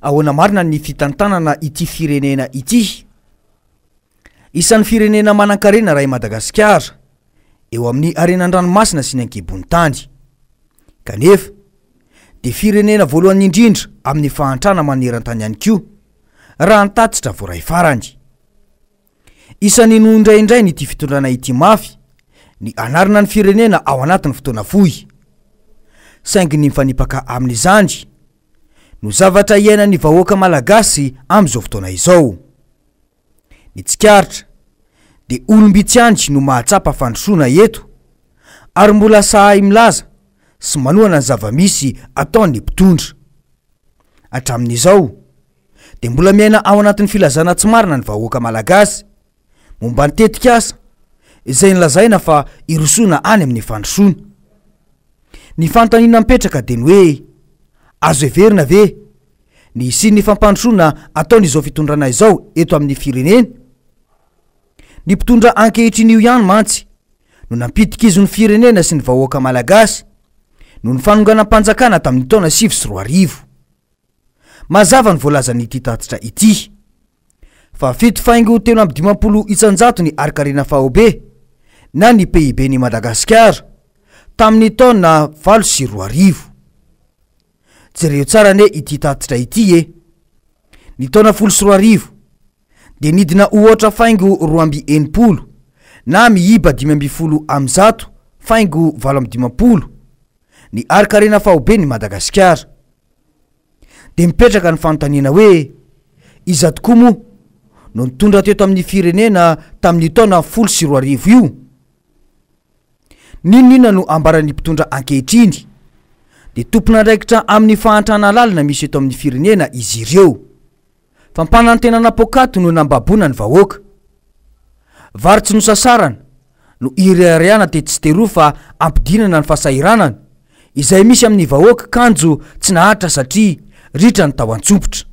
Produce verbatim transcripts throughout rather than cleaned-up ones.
Ahoana marina ny fitantanana ity firenena ity? Isan'ny firenena manankarena raha i Madagasikara eo amin'ny harena an-dranomasina sy ny ankibon'ny tany. Kanefa dia firenena voalohany indrindra amin'ny fahantrana maneran-tany ihany koa raha ny tatitra voaray farany. Isan'ny noindraindrainy ity fitondrana ity mafy ny anarina ny firenena ao anatin'ny fotoana fohy. Saingy ny mifanipaka amin'izany no zavatra iainan'ny vahoaka malagasy amin'izao fotoana izao. Ny tsikaritra dia olom-bitsy ihany no mahatsapa fandrosoana eto ary mbola sahy milaza sy manohana ny zava-misy ataon'ny mpitondra. Hatramin'izao dia mbola miaina ao anatin'ny filazana tsy marina ny vahoaka malagasy momba ny tetikasa izay nilazaina fa irosoana any amin'ny fandrosoana. Ny fanontaniana mipetraka dia ny hoe azo heverina ve ny hisian'ny fampandrosoana ataon'izao fitondrana izao eto amin'ny firenena? Ny mpitondra ankehitriny io ihany mantsy no nampidi-kizo ny firenena sy ny vahoaka malagasy noho ny fanonganam-panjakana tamin'ny taona sivy sy roa arivo. Mazava ny voalazan'ity tatitra ity fa fito faingo telo amby dimampolo isan-jato ny harinkarena faobe na ny P I B ny Madagasikara tamin'ny taona valo sy roa arivo. Jereo tsara ane ity tatitra ity e. Ny taona folo sy roa arivo dia nidina ohatra faingo roa amby enimpolo na miiba dimy amby folo amby zato faingo valo amby dimampolo ny harinkarena faobe ny Madagasikara. Dia mipetraka ny fanontaniana hoe iza tokoa moa no nitondra teto amin'ny firenena tamin'ny taona folo sy roa arivo io? N'inon'inona no ambaran'ny mpitondra ankehitriny dia tompon'andraikitra amin'ny fahantrana lalina misy eto amin'ny firenena izy ireo. Fampanantenana poakaty no nambabona ny vahoaka. Vary tsy nosasarana no irehareana tetsy sy teroa fa ampidinana ny fahasahiranana izay misy amin'ny vahoaka, kanjo tsy naharitra satria ritra ny tao an-tsompitra.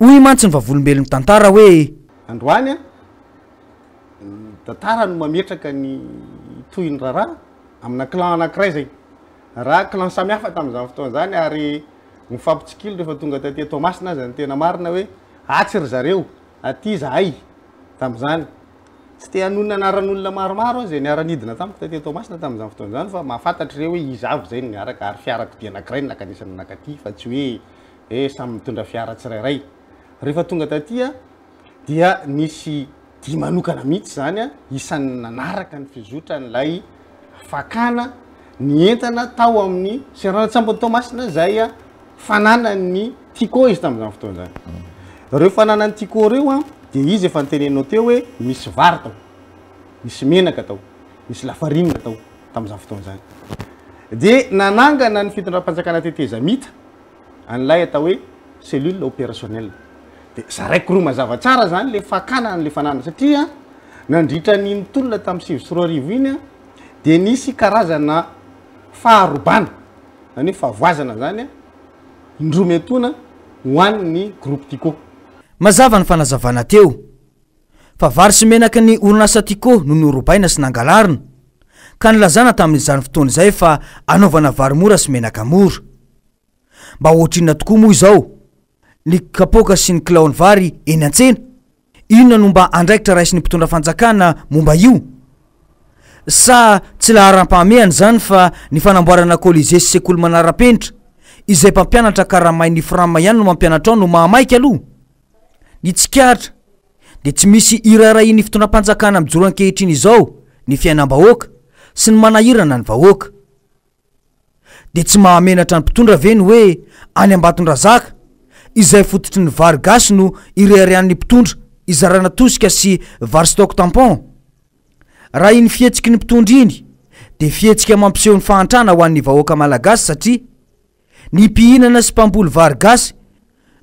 Hoy mantsy ny vavolombelon'ny tantara hoe: Androany a, ny tantara no mametraka ny tohin'ny raharaha amina clan anankiray zay raha clan samihafa tamin'izany fotoana zany, ary mifampitsikilo rehefa tonga taty Toamasina aza. Ny tena marina hoe atsy ry zareo, aty zahay tam'izany. Tsy te hanonona anaran'olona maromaro aho zay niara-nidina tamiko taty Toamasina tamin'izany fotoana zany, fa mahafantatra ireo hoe iza avy zay no niaraka, ary fiarakodia anankiray no nankanesana nankaty, fa tsy hoe e samy mitondra fiara tsirairay. Rehefa tonga taty a, dia nisy di manokana mihitsy zany a, isan'ny nanaraka ny fizotra n'lay fakana ny entana tao amin'ny seranan-tsambon'ny Toamasina zay a fananany Tiko izy tamin'izany fotoana zany. Reo fananany Tiko reo a, de izy efa nitenenao teo hoe misy vary tao, misy menaka tao, misy lafarinina tao tamin'izany fotoana zany. De nanangana ny fitondram-panjakana tetezamita an'ilay atao hoe cellule opérationnelle. De zaraiko roa mazava tsara zany le fakana an'le fanana, satria nandritra ny nitolona tamin'ny sivy sy roa arivo iny a, de nisy karazana faharobana, zany hoe fahavoazana zany a, indroa miantoana ho an'ny groupe Tiko. Mazava ny fanazavana teo fa vary sy menaky ny orinasa Tiko no norobaina sy nangalarina, ka nilazana tamin'izany fotoana izay fa anaovana vary mora sy menaka mora. Mba ohatrinona tokoa moa izao ny kapoaka sy ny kilaon'ny vary eny an-tsena? Inona no mba andraikitra raisin'ny mpitondra fanjakana momba io? Sa tsy laharam-pahamehana izany fa ny fanamboarana Colisée sy sekoly manara-penitra izay mpampianatra karamain'ny FRAM ihany no mampianatra ao no mahamaika aloha? Ny tsikaritra dia tsy misy iraharahian'ny fitondram-panjakana mijoro ankehitriny izao ny fiainam-bahoaka sy ny manahirana ny vahoaka. Dia tsy mahamenatra ny mpitondra ve ny hoe any Ambatondrazaka izay fototry ny vary gasy no ireharehan'ny mpitondra izarana tosika sy vary stock tampon? Raha iny fihetsiky ny mpitondra iny dia fihetsika mampiseho ny fahantrana ho an'ny vahoaka malagasy, satria ny mpihinana sy mpamboly vary gasy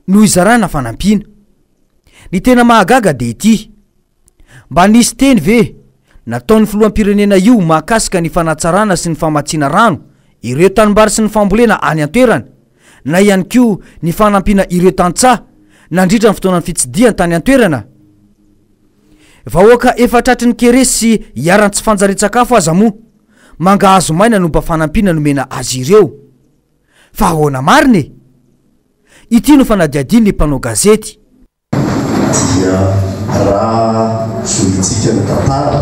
no izarana fanampiana. Ny tena mahagaga dia ity: mba nisy teny ve nataon'ny filoham-pirenena io mahakasika ny fanatsarana sy ny famatsiana rano ireo tanimbary sy ny fambolena any an-toerana, na ihany koa ny fanampiana ireo tantsaha nandritra ny fotoanany fitsidihany tany an-toerana? Vahoaka efa tratry ny kere sy iharan'ny tsy fanjarian-tsakafo aza moa mangahazo maina no mba fanampiana nomena azy ireo. Fa ahoana marina e? Ity no fanadihadian'ny mpanao gazety. Dia raha zohintsika ny tantara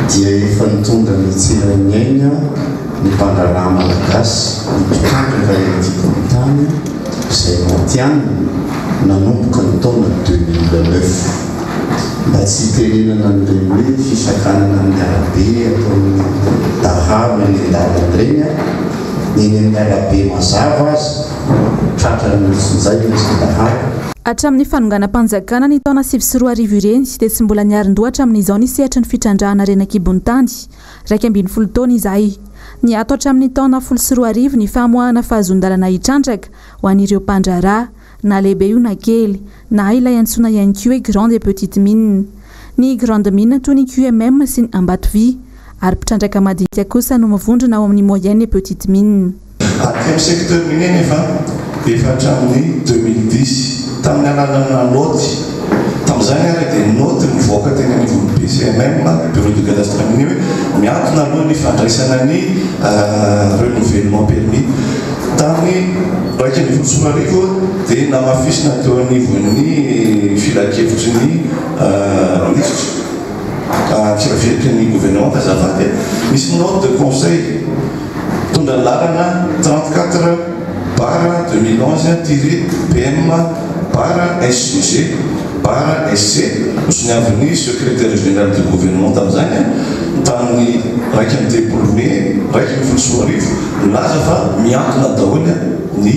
dia efa nitondra ny tsiran'ny aina ny mpandraharaha malagasy, ny mpitrandraka eny an-kibon'ny tany izay matihanina nanomboka ny taona deux mille neuf. Mba tsy hitenenana an'ireny hoe fisakanana amin'ny arabe ataon'ny dahalo eny an-dalana ireny, eny amin'ny arabe mazava aza tratran'ny olon-tsinjay ny dahalo. Hatramin'ny fanonganam-panjakana ny taona sivy sy roa arivo ireny dia tsy mbola niarin-doha hatramin'izao ny sehatry ny fitrandrahana harena an-kibon'ny tany. Iraika ambin'ny folo taona izahay. Niato hatramin'ny taona folo sy roa arivo ny famoahana fahazoan-dalana hitrandraka ho an'ireo mpandraharaha, na lehibe io na kely, na ilay antsoina ihany koa hoe grande et petite mine. Ny grande mine toy ny Q M M sy ny Ambatovy, ary mpitrandraka madinika kosa no mivondrona ao amin'ny moyenne et petite mine. Aty amin'ny secteur minier nefa efa hatramin'ny deux mille dix tamin'ny alalan'ny noty. Tamin'izany ary dia noty mivoaka teny anivon'ny B C M M, Bureau de Cadastre Minier, hoe miantona aloha ny fandraisana ny renouvellement permis. Tamin'ny iraika ambin'ny folo sy roa arivo dia namafisina teo anivon'ny filankevitry ny minisitra, filankevitry ny gouvernement azafady, misy note de conseil mitondra ny lalana trente-quatre barre deux mille onze tiré P M barre S G G barre S C nosoniavin'ny secrétaire général du gouvernement tamin'izany tamin'ny iraika amby telopolo mey iraika ambin'ny folo sy roa arivo nilaza fa miantona daholo ny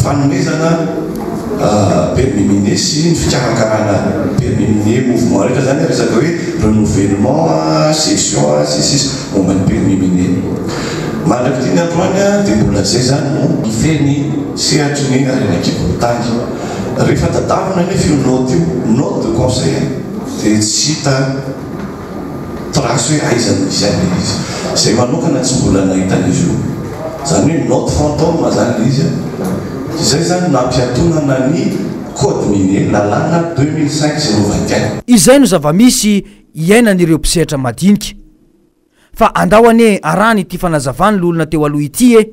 fanomezana permis minier sy ny fikarakarana permis minier mouvement rehetra zany resaka hoe renouvellement, cession sy sisa momba ny permis minier. Mandrak'ity ny androany dia mbola zay zany no mifehy ny sehatry ny harena an-kibon'ny tany. Rehefa tadavina nefa io note io, note de conseil, dia tsy hita trace hoe aiza no misy an'ilay izy. Izay manokana tsy mbola nahita an'izy io. Zany hoe note fantôme zany ilay izy. Izay zany nampiatonana ny code minier lalàna deux mille cinq zéro vingt et un. Izay no zava-misy iainan'ireo mpisehatra madinika. Fa andao anie arahana ity fanazavany lolona teo aloha ity e.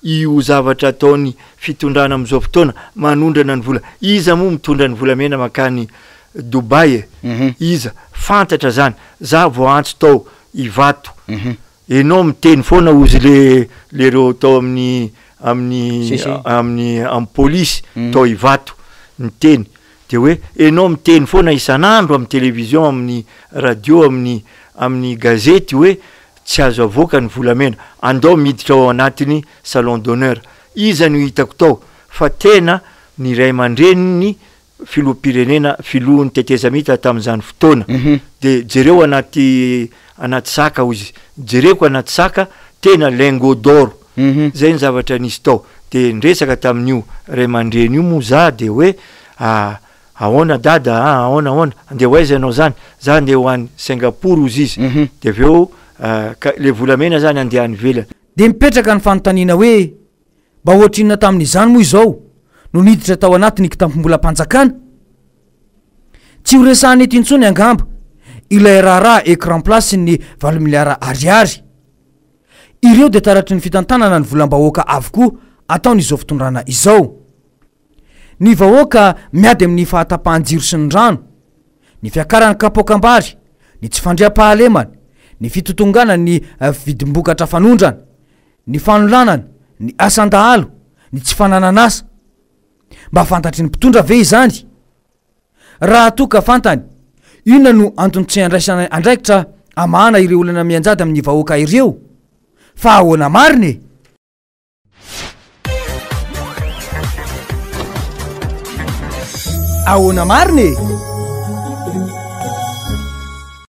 Io zavatra ataony fitondrana amin'izao fotoana manondrana ny vola. Iza moa mitondra ny volamena mankany Dubai e? Mhm. Iza? Fantatra zany. Za voantso tao Ivato. Mhm. Enao miteny foana ozy le, le reo tao amin'ny, amin'ny, Si, si. amin'ny, amin'ny polisy Mhm. tao Ivato niteny. De hoe enao miteny foana isan'andro amin'ny télévision, amin'ny radio, amin'ny, amin'ny gazety hoe tsy azo avoaka ny volamena. Andao miditra ao anatiny salon d'honneur. Iza no hitako tao fa tena ny ray aman-dreniny filoham-pirenena, filohan'ny tetezamita tamin'izany fotoana. Mhm. De jereo anaty, anaty saka hozy. Jereko anaty saka tena lingot d'or. Mhm. Zay ny zavatra nisy tao. De niresaka tamin'io ray aman-dreny io moa za de hoe, ah, ahoana dada, ah, ahoana, ahoana, andeha ho aiza ianao zany? Za andeha ho any Singapour hozy izy. Mhm. De avy eo, ah, ka le volamena zany andeha any ivelany. De mipetraka ny fanontaniana hoe mba ohatrinona tamin'izany moa izao no niditra tao anatin'ny kitampom-bolam-panjakana? Tsy ho resahana eto intsony angamba ilay raharaha écran plat sy ny valo miliara ariary. Ireo dia taratry ny fitantanana ny volam-bahoaka avokoa ataon'izao fitondrana izao. Ny vahoaka miady amin'ny fahatapahan-jiro sy ny rano, ny fiakaran'ny kapoakam-bary, ny tsy fandriampahalemana, ny fitotongana ny vidim-bokatra fanondrana, ny fanolanana, ny asan-dahalo, ny tsy fananan'asa. Mba fantatry ny mpitondra ve izany? Raha toa ka fantany, inona no antony tsy andraisana andraikitra amahana ireo olana mianjady amin'ny vahoaka ireo? Fa ahoana marina e? Ahoana marina e?